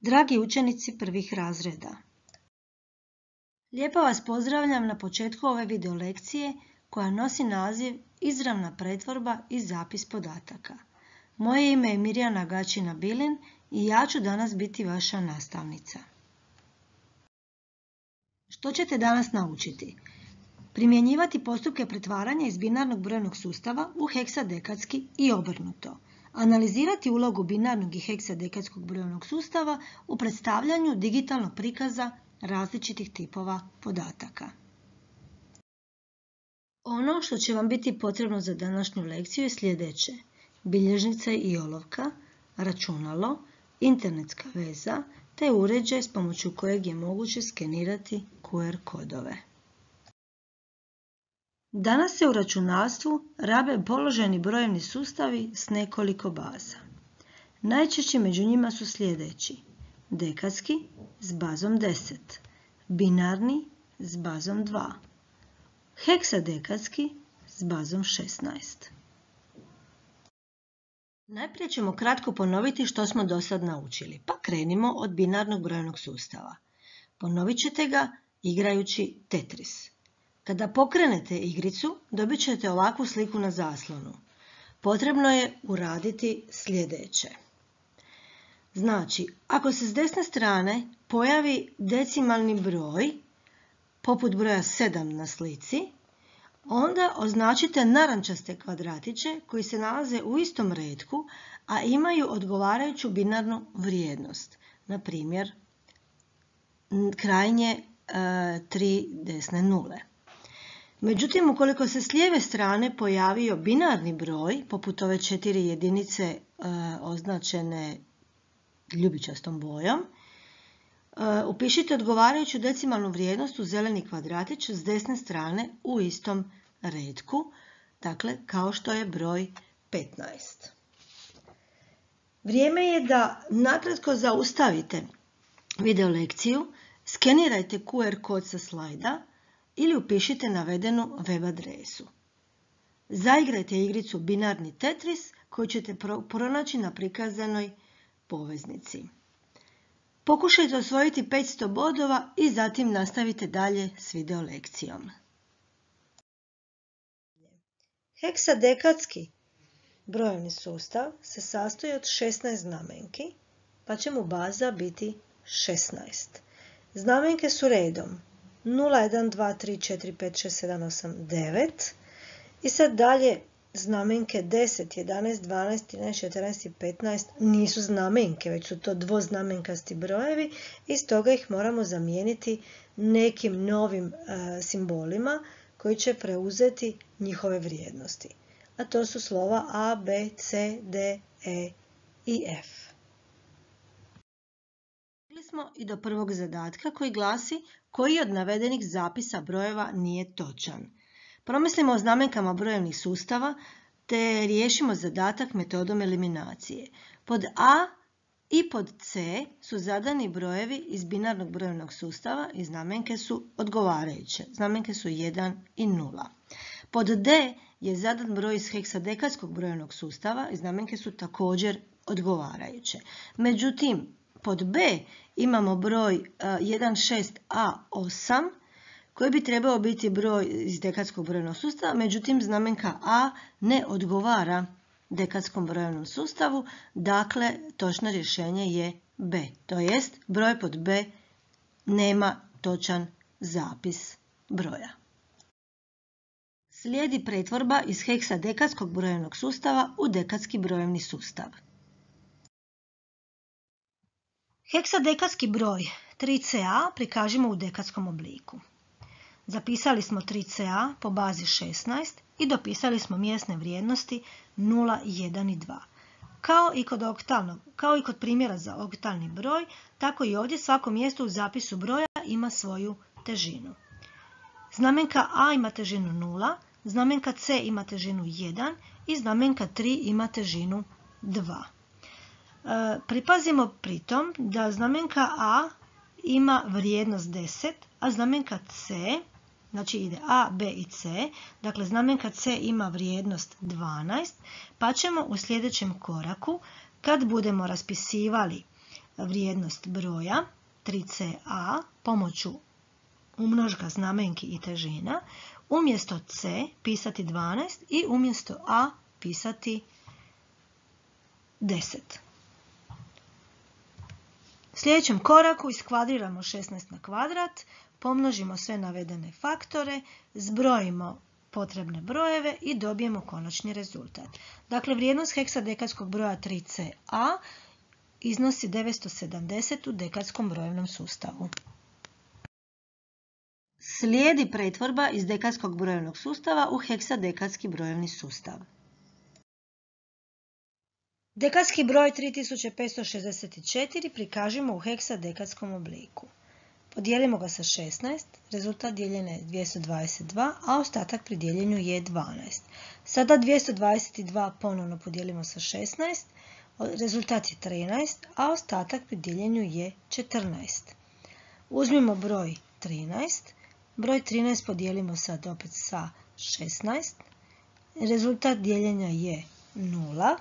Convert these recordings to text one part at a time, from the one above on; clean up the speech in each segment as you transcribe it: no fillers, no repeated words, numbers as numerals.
Dragi učenici prvih razreda, lijepo vas pozdravljam na početku ove video lekcije koja nosi naziv Izravna pretvorba i zapis podataka. Moje ime je Mirjana Gačina-Bilin i ja ću danas biti vaša nastavnica. Što ćete danas naučiti? Primjenjivati postupke pretvaranja iz binarnog brojnog sustava u heksadekadski i obrnuto. Analizirati ulogu binarnog i heksadekadskog brojnog sustava u predstavljanju digitalnog prikaza različitih tipova podataka. Ono što će vam biti potrebno za današnju lekciju je sljedeće: bilježnica i olovka, računalo, internetska veza te uređaj s pomoću kojeg je moguće skenirati QR kodove. Danas se u računalstvu rabe položajni brojevni sustavi s nekoliko baza. Najčešći među njima su sljedeći: dekadski s bazom 10, binarni s bazom 2, heksadekadski s bazom 16. Najprije ćemo kratko ponoviti što smo do sad naučili, pa krenimo od binarnog brojnog sustava. Ponovit ćete ga igrajući Tetris. Kada pokrenete igricu, dobit ćete ovakvu sliku na zaslonu. Potrebno je uraditi sljedeće. Znači, ako se s desne strane pojavi decimalni broj, poput broja 7 na slici, onda označite narančaste kvadratiće koji se nalaze u istom retku, a imaju odgovarajuću binarnu vrijednost. Na primjer, krajnje 3 desne nule. Međutim, ukoliko se s lijeve strane pojavio binarni broj, poput ove 4 jedinice označene ljubičastom bojom, upišite odgovarajuću decimalnu vrijednost u zeleni kvadratić s desne strane u istom retku, dakle kao što je broj 15. Vrijeme je da nakratko zaustavite video lekciju, skenirajte QR kod sa slajda ili upišite navedenu web adresu. Zaigrajte igricu binarni Tetris koju ćete pronaći na prikazanoj poveznici. Pokušajte osvojiti 500 bodova i zatim nastavite dalje s video lekcijom. Heksadekadski brojevni sustav se sastoji od 16 znamenki, pa će mu baza biti 16. Znamenke su redom 0, 1, 2, 3, 4, 5, 6, 7, 8, 9 i sad dalje znamenke 10, 11, 12, 13, 14 i 15 nisu znamenke, već su to dvoznamenkasti brojevi i stoga ih moramo zamijeniti nekim novim simbolima koji će preuzeti njihove vrijednosti. A to su slova A, B, C, D, E i F. Stigli smo i do prvog zadatka koji glasi: koji od navedenih zapisa brojeva nije točan. Promislimo o znamenkama brojevnih sustava te riješimo zadatak metodom eliminacije. Pod A i pod C su zadani brojevi iz binarnog brojevnog sustava i znamenke su odgovarajuće. Znamenke su 1 i 0. Pod D je zadan broj iz heksadekadskog brojevnog sustava i znamenke su također odgovarajuće. Međutim, pod B imamo broj 16A8 koji bi trebao biti broj iz dekadskog brojevnog sustava, međutim znamenka A ne odgovara dekadskom brojevnom sustavu, dakle točno rješenje je B, to jest broj pod B nema točan zapis broja. Slijedi pretvorba iz heksadekadskog brojevnog sustava u dekadski brojevni sustav. Heksadekadski broj 3CA prikažimo u dekadskom obliku. Zapisali smo 3CA po bazi 16 i dopisali smo mjesne vrijednosti 0, 1 i 2. Kao i kod primjera za oktalni broj, tako i ovdje svako mjesto u zapisu broja ima svoju težinu. Znamenka A ima težinu 0, znamenka C ima težinu 1 i znamenka 3 ima težinu 2. Pripazimo pritom da znamenka A ima vrijednost 10, a znamenka C, znači ide A, B i C, dakle znamenka C ima vrijednost 12, pa ćemo u sljedećem koraku, kad budemo raspisivali vrijednost broja 3CA pomoću umnožka znamenki i težina, umjesto C pisati 12 i umjesto A pisati 10. U sljedećem koraku iskvadriramo 16 na kvadrat, pomnožimo sve navedene faktore, zbrojimo potrebne brojeve i dobijemo konačni rezultat. Dakle, vrijednost heksadekadskog broja 3CA iznosi 970 u dekadskom brojevnom sustavu. Slijedi pretvorba iz dekadskog brojevnog sustava u heksadekadski brojevni sustav. Dekadski broj 3564 prikažimo u heksadekadskom obliku. Podijelimo ga sa 16, rezultat dijeljena je 222, a ostatak pri dijeljenju je 12. Sada 222 ponovno podijelimo sa 16, rezultat je 13, a ostatak pri dijeljenju je 14. Uzmimo broj 13, broj 13 podijelimo sad opet sa 16, rezultat dijeljenja je 0,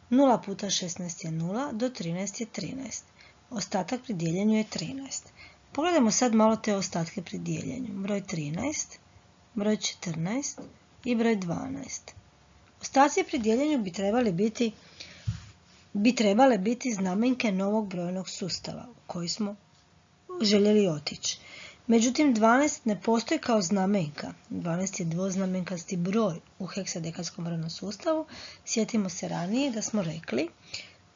0 puta 16 je 0, do 13 je 13. Ostatak pri dijeljenju je 13. Pogledajmo sad malo te ostatke pri dijeljenju. Broj 13, broj 14 i broj 12. Ostaci pri dijeljenju bi trebale biti znamenke novog brojnog sustava u koji smo željeli otići. Međutim, 12 ne postoji kao znamenka. 12 je dvoznamenkasti broj u heksadekadskom brojnom sustavu. Sjetimo se ranije da smo rekli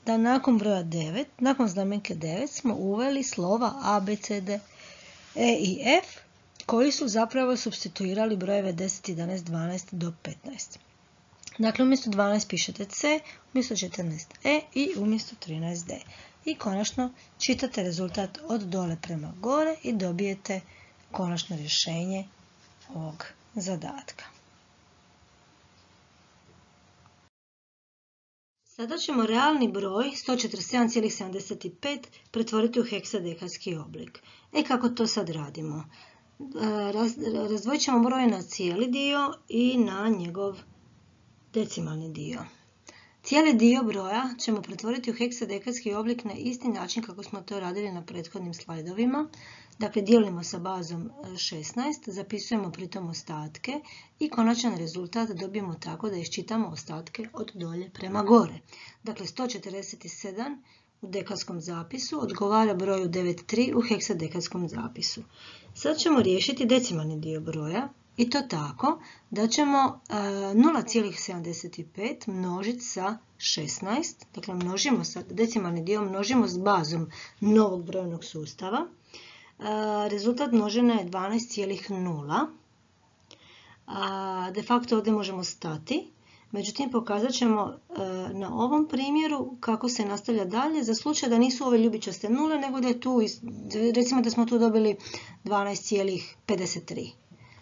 da nakon broja 9, nakon znamenke 9 smo uveli slova A, B, C, D, E i F koji su zapravo supstituirali brojeve 10, 11, 12 do 15. Dakle, umjesto 12 pišete C, umjesto 14 E i umjesto 13 D. I konačno čitate rezultat od dole prema gore i dobijete konačno rješenje ovog zadatka. Sada ćemo realni broj 147,75 pretvoriti u heksadekadski oblik. Kako to sad radimo? Razdvojit ćemo broj na cijeli dio i na njegov decimalni dio. Cijeli dio broja ćemo pretvoriti u heksadekadski oblik na isti način kako smo to radili na prethodnim slajdovima. Dakle, dijelimo sa bazom 16, zapisujemo pritom ostatke i konačan rezultat dobijemo tako da iščitamo ostatke od dolje prema gore. Dakle, 147 u dekadskom zapisu odgovara broju 9,3 u heksadekadskom zapisu. Sad ćemo riješiti decimalni dio broja. I to tako da ćemo 0,75 množiti sa 16, dakle množimo sa decimalni dio množimo s bazom novog brojnog sustava. Rezultat množena je 12,0. De facto ovdje možemo stati, međutim pokazat ćemo na ovom primjeru kako se nastavlja dalje za slučaj da nisu ove ljubičaste nule, nego da je tu, recimo da smo tu dobili 12,53.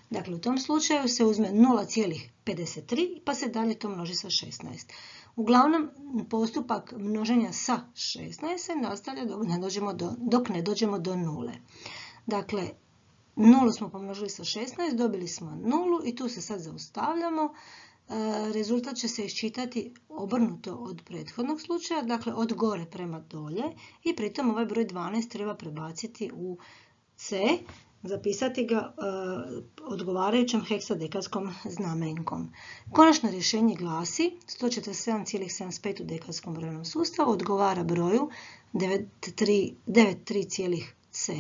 Dakle, u tom slučaju se uzme 0,53 pa se dalje to množi sa 16. Uglavnom, postupak množenja sa 16 se nastavlja dok ne dođemo do nule. Dakle, nulu smo pomnožili sa 16, dobili smo nulu i tu se sad zaustavljamo. Rezultat će se iščitati obrnuto od prethodnog slučaja, dakle od gore prema dolje i pritom ovaj broj 12 treba prebaciti u C, zapisati ga odgovarajućom heksadekadskom znamenkom. Konačno rješenje glasi 147,75 u dekadskom brojnom sustavu odgovara broju 9,3C,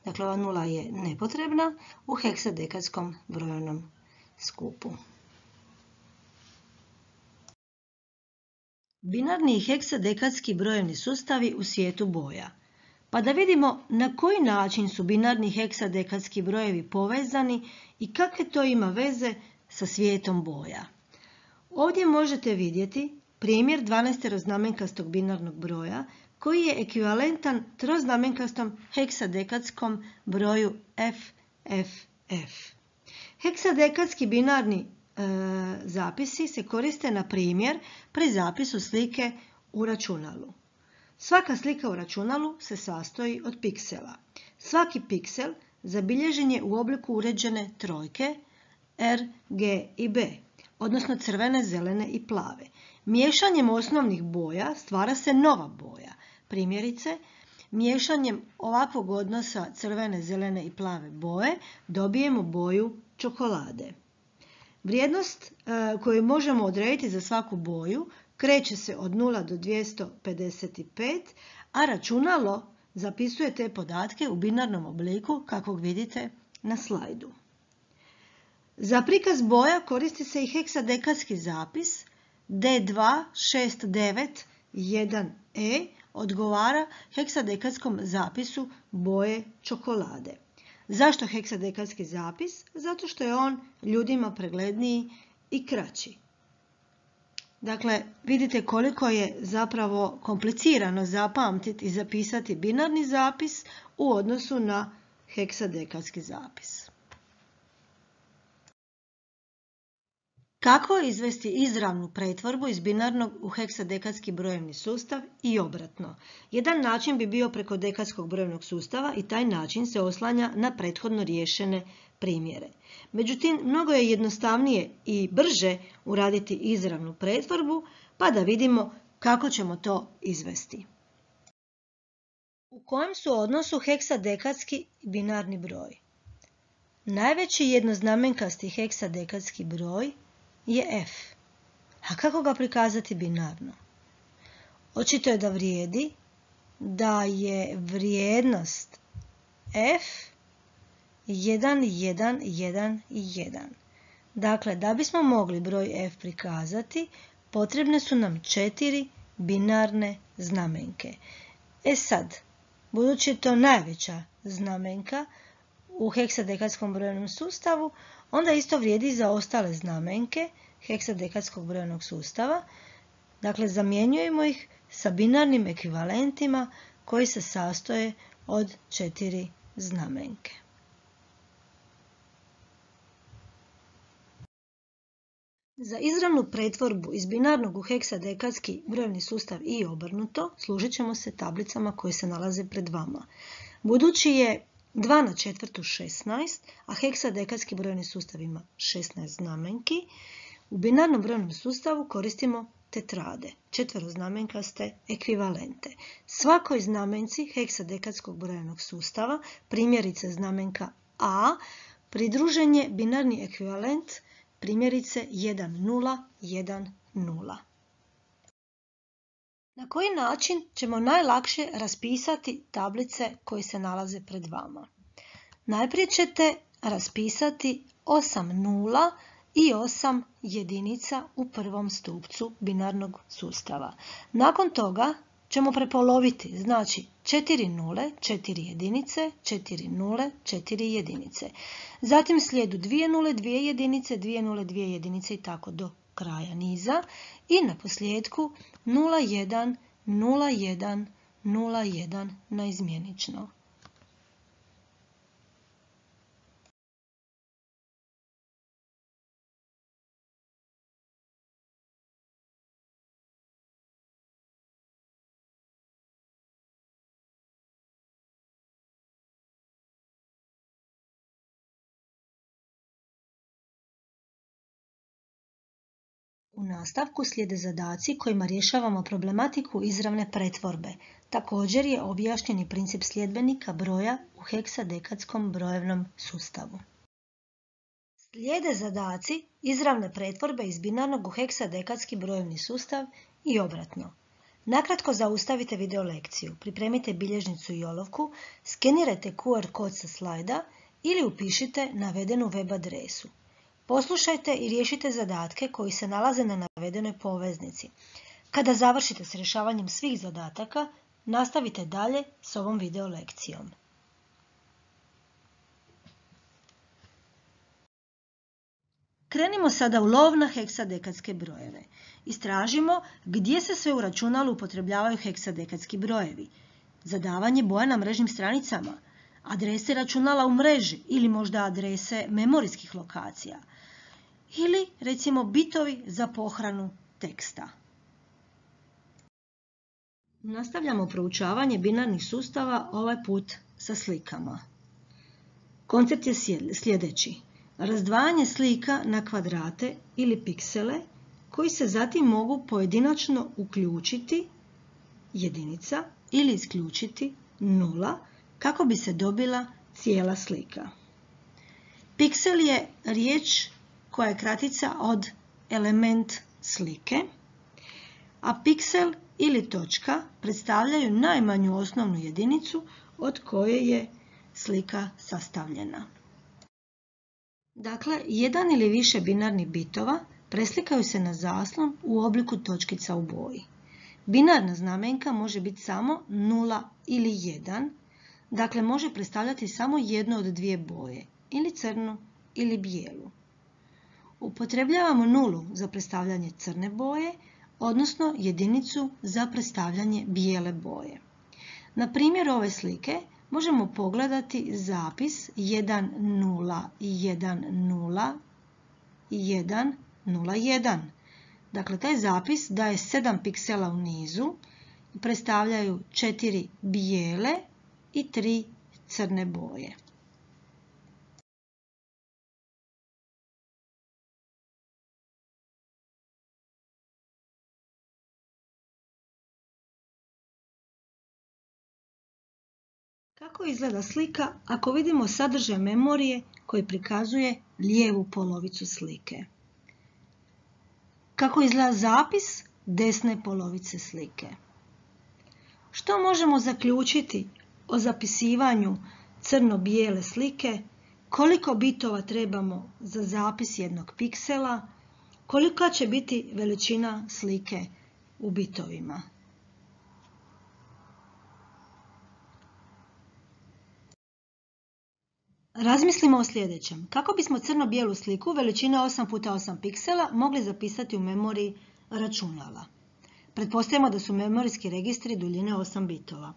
dakle ova nula je nepotrebna, u heksadekadskom brojnom skupu. Binarni i heksadekadski brojevni sustavi u svijetu boja. Pa da vidimo na koji način su binarni i heksadekadski brojevi povezani i kakve to ima veze sa svijetom boja. Ovdje možete vidjeti primjer 12-znamenkastog binarnog broja koji je ekvivalentan troznamenkastom heksadekadskom broju FFF. Heksadekadski binarni zapisi se koriste na primjer pri zapisu slike u računalu. Svaka slika u računalu se sastoji od piksela. Svaki piksel zabilježen je u obliku uređene trojke R, G i B, odnosno crvene, zelene i plave. Miješanjem osnovnih boja stvara se nova boja. Primjerice, miješanjem ovakvog odnosa crvene, zelene i plave boje dobijemo boju čokolade. Vrijednost koju možemo odrediti za svaku boju kreće se od 0 do 255, a računalo zapisuje te podatke u binarnom obliku kakvog vidite na slajdu. Za prikaz boja koristi se i heksadekadski zapis D26911E odgovara heksadekadskom zapisu boje čokolade. Zašto heksadekadski zapis? Zato što je on ljudima pregledniji i kraći. Dakle, vidite koliko je zapravo komplicirano zapamtiti i zapisati binarni zapis u odnosu na heksadekadski zapis. Kako izvesti izravnu pretvorbu iz binarnog u heksadekadski brojevni sustav i obratno? Jedan način bi bio preko dekadskog brojevnog sustava i taj način se oslanja na prethodno riješene primjere. Međutim, mnogo je jednostavnije i brže uraditi izravnu pretvorbu, pa da vidimo kako ćemo to izvesti. U kojem su odnosu heksadekadski i binarni broj? Najveći jednoznamenkasti heksadekadski broj je f. A kako ga prikazati binarno? Očito je da je vrijednost f 1, 1, 1 i 1. Dakle, da bismo mogli broj f prikazati, potrebne su nam 4 binarne znamenke. Sad, budući je to najveća znamenka u heksadekadskom brojevnom sustavu, onda isto vrijedi za ostale znamenke heksadekadskog brojevnog sustava. Dakle, zamjenjujemo ih sa binarnim ekvivalentima koji se sastoje od 4 znamenke. Za izravnu pretvorbu iz binarnog u heksadekadski brojevni sustav i obrnuto služit ćemo se tablicama koje se nalaze pred vama. Budući je 2 na četvrtu 16, a heksadekadski brojevni sustav ima 16 znamenki, u binarnom brojevnom sustavu koristimo tetrade, četveroznamenkaste ekvivalente. Svakoj znamenci heksadekadskog brojevnog sustava, primjerice znamenka A, pridružen je binarni ekvivalent primjerice 1, 0, 1, 0. Na koji način ćemo najlakše raspisati tablice koje se nalaze pred vama? Najprije ćete raspisati 8 nula i 8 jedinica u prvom stupcu binarnog sustava. Nakon toga ćemo prepoloviti, znači 4 nule, 4 jedinice, 4 nule, 4 jedinice. Zatim slijedu 2 nule, 2 jedinice, 2 nule, 2 jedinice i tako do kraja niza. I na posljedku 0, 1, 0, 1, 0, 1 naizmjenično. U nastavku slijede zadaci kojima rješavamo problematiku izravne pretvorbe. Također je objašnjeni princip sljedbenika broja u heksadekadskom brojevnom sustavu. Slijede zadaci izravne pretvorbe iz binarnog u heksadekadski brojevni sustav i obratno. Nakratko zaustavite video lekciju, pripremite bilježnicu i olovku, skenirajte QR kod sa slajda ili upišite navedenu web adresu. Poslušajte i riješite zadatke koji se nalaze na navedenoj poveznici. Kada završite s rješavanjem svih zadataka, nastavite dalje s ovom video lekcijom. Krenimo sada u lov na heksadekadske brojeve. Istražimo gdje se sve u računalu upotrebljavaju heksadekadski brojevi. Zadavanje boja na mrežnim stranicama, adrese računala u mreži ili možda adrese memorijskih lokacija. Ili, recimo, bitovi za pohranu teksta. Nastavljamo proučavanje binarnih sustava, ovaj put sa slikama. Koncept je sljedeći. Razdvajanje slika na kvadrate ili piksele koji se zatim mogu pojedinačno uključiti, jedinica, ili isključiti 0 kako bi se dobila cijela slika. Piksel je riječ koja je kratica od element slike, a piksel ili točka predstavljaju najmanju osnovnu jedinicu od koje je slika sastavljena. Dakle, jedan ili više binarnih bitova preslikaju se na zaslon u obliku točkica u boji. Binarna znamenka može biti samo 0 ili 1, dakle može predstavljati samo jednu od dvije boje, ili crnu ili bijelu. Upotrebljavamo nulu za predstavljanje crne boje, odnosno jedinicu za predstavljanje bijele boje. Na primjeru ove slike možemo pogledati zapis 10100101. Dakle, taj zapis daje 7 piksela u nizu i predstavljaju 4 bijele i 3 crne boje. Kako izgleda slika ako vidimo sadržaj memorije koji prikazuje lijevu polovicu slike? Kako izgleda zapis desne polovice slike? Što možemo zaključiti o zapisivanju crno-bijele slike? Koliko bitova trebamo za zapis jednog piksela? Kolika će biti veličina slike u bitovima? Razmislimo o sljedećem. Kako bismo crno-bijelu sliku veličine 8x8 piksela mogli zapisati u memoriji računala? Pretpostavimo da su memorijski registri duljine 8 bitova.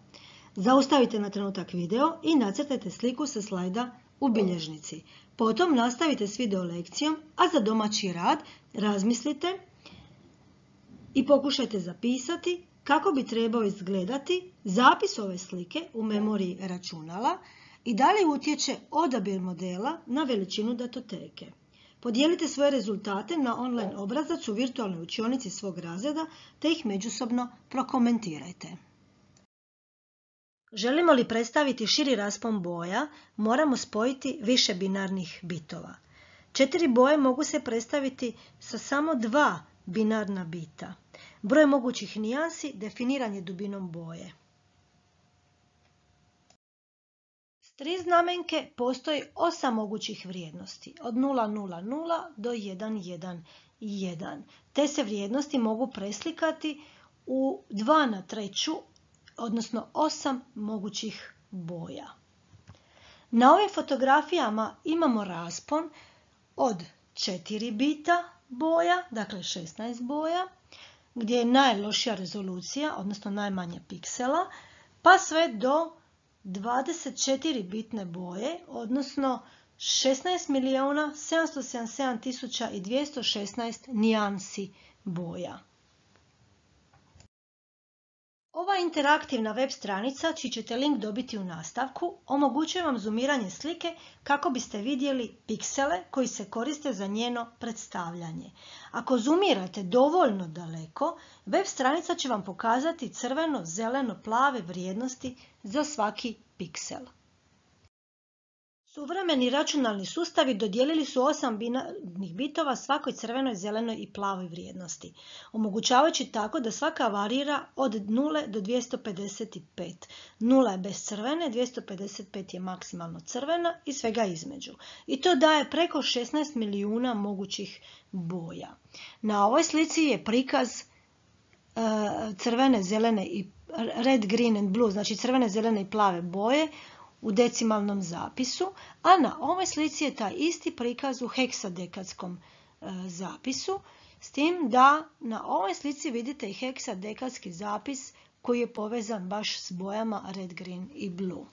Zaustavite na trenutak video i nacrtajte sliku sa slajda u bilježnici. Potom nastavite s video lekcijom, a za domaći rad razmislite i pokušajte zapisati kako bi trebao izgledati zapis ove slike u memoriji računala i da li utječe odabir modela na veličinu datoteke. Podijelite svoje rezultate na online obrazac u virtualnoj učionici svog razreda te ih međusobno prokomentirajte. Želimo li predstaviti širi raspon boja, moramo spojiti više binarnih bitova. 4 boje mogu se predstaviti sa samo 2 binarna bita. Broj mogućih nijansi definiran je dubinom boje. S 3 znamenke postoji 8 mogućih vrijednosti, od 000 do 111, te se vrijednosti mogu preslikati u 2/3, odnosno 8 mogućih boja. Na ovim fotografijama imamo raspon od 4 bita boja, dakle 16 boja, gdje je najlošija rezolucija, odnosno najmanje piksela, pa sve do 24 bitne boje, odnosno 16.777.216 nijansi boja. Ova interaktivna web stranica, čiji ćete link dobiti u nastavku, omogućuje vam zoomiranje slike kako biste vidjeli piksele koji se koriste za njeno predstavljanje. Ako zoomirate dovoljno daleko, web stranica će vam pokazati crveno, zeleno, plave vrijednosti za svaki piksel. Suvremeni računalni sustavi dodijelili su 8 binarnih bitova svakoj crvenoj, zelenoj i plavoj vrijednosti, omogućavajući tako da svaka varira od 0 do 255. 0 je bez crvene, 255 je maksimalno crvena i svega između. I to daje preko 16 milijuna mogućih boja. Na ovoj slici je prikaz crvene, zelene i red, green and blue, znači crvene, zelene i plave boje u decimalnom zapisu, a na ovoj slici je taj isti prikaz u heksadekadskom zapisu, s tim da na ovoj slici vidite i heksadekadski zapis koji je povezan baš s bojama red, green i blue.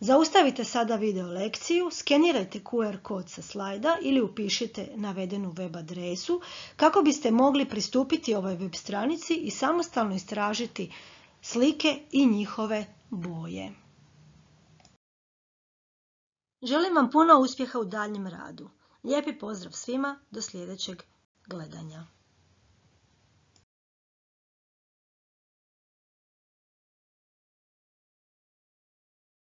Zaustavite sada video lekciju, skenirajte QR kod sa slajda ili upišite navedenu web adresu kako biste mogli pristupiti ovoj web stranici i samostalno istražiti slike i njihove boje. Želim vam puno uspjeha u daljnjem radu. Lijepi pozdrav svima, do sljedećeg gledanja.